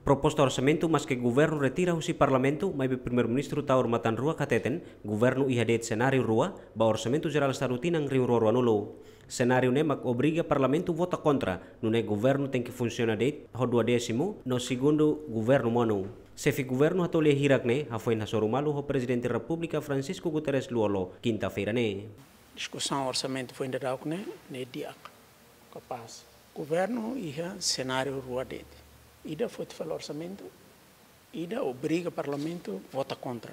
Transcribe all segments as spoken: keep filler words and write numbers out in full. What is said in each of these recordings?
Proposta orsamentu maske governu retira husi Parlamentu, maibé Primeiru-Ministru Taur Matan Ruak hateten, governu iha de'it senáriu rua ba Orsamentu Jerál Estadu tinan rihun rua ruanulu. Senáriu ne'e mak obriga Parlamentu vota kontra, nune'e governu tenke funsiona de'it ho duodésimu, no segundu governu monu. Xefe governu hato'o lia hirak ne'e hafoin hasoru malu ho Prezidente Repúblika Francisco Guterres Lú-Olo, kinta-feira ne'e. Diskusaun orsamentu foin daudauk ne'e, ne'e di'ak, kapás. Governu iha senáriu rua de'it. Ida foti fali orsamentu, ida obriga Parlamentu vota kontra.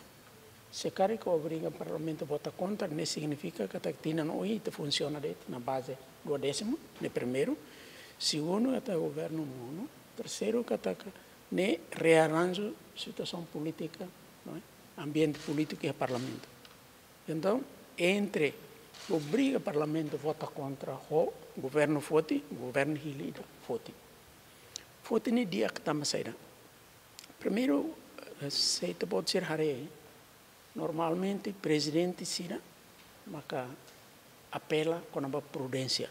Se karik obriga Parlamentu vota kontra, ne'e signifika katak tinan oin ita funsiona de'it iha baze duodésimu, ne'e primeiru. Segundu, katak governu monu. Terseiru, katak ne'e rearanju situasaun polítika, não é? Ambiente polítiku iha Parlamentu. Entaun, entre obriga Parlamentu vota kontra ho governu foti, governu hili ida foti. Foti ne'e di'ak tanba saida? Primeiru, eh, se ita-boot sira haree, normalmente prezidente sira maka apela kona-ba prudénsia.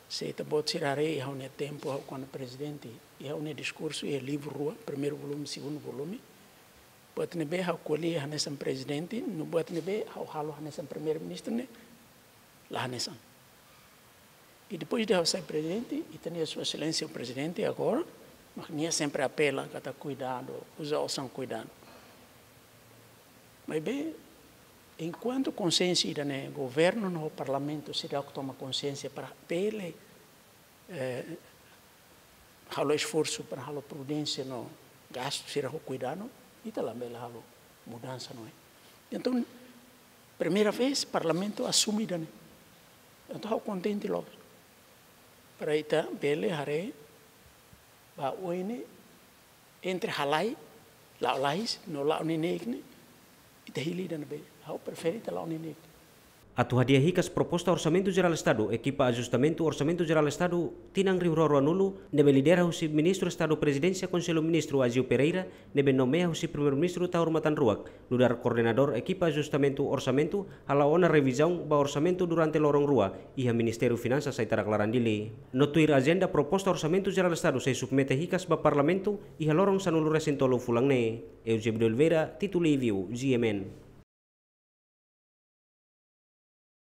Se ita-boot sira haree iha ha'u-nia tempu ha'u kona prezidente, iha ha'u-nia diskursu iha livru rua, primeiru volume, segundu volume. Buat ne'ebé ha'u ko'alia hanesan prezidente, no buat ne'ebé ha'u halo hanesan Primeiru-Ministru ne'e la hanesan. I depois de ha'u sai prezidente, ita-nia Sua Exelénsia Prezidente agora, mak nia sempre apela katak kuidadu, uza osan kuidadu. Maibé, enkuantu konsiénsia ida-ne'e, governu no parlamentu seidauk toma konsiénsia para bele, eh, halo esforsu para halo prudénsia no gastu sira ho kuidadu, ita labele halo mudansa, não é? Entaun, primeira vez Parlamentu asume ida-ne'e. Entaun, ha'u kontente loos. Para ita bele haree ba oin ne'e, entre halai, la'o lalais, no la'o neineik ne'e, ita hili ida ne'ebé. Ha'u prefere ita la'o neineik. Atu hadi'a hikas proposta Orsamentu Jerál Estadu, ekipa ajustamentu Orsamentu Jerál Estadu tinan rihun rua ruanulu, ne'ebé lidera husi Ministru Estadu Prezidénsia Konsellu Ministru Aziu Pereira, ne'ebé nomeia husi Primeiru-Ministru Taur Matan Ruak, nu'udar koordenadór ekipa ajustamentu orsamentu, hala'o ona revizaun ba orsamentu durante loron rua iha Ministériu Finansas Aitarak Laran Dili. No tuir ajenda, proposta Orsamentu Jerál Estadu sei submete hikas ba Parlamentu iha loron sanulu-resin-tolu fulan ne'e. Eusébio de Oliveira, Tito Livio, G M N.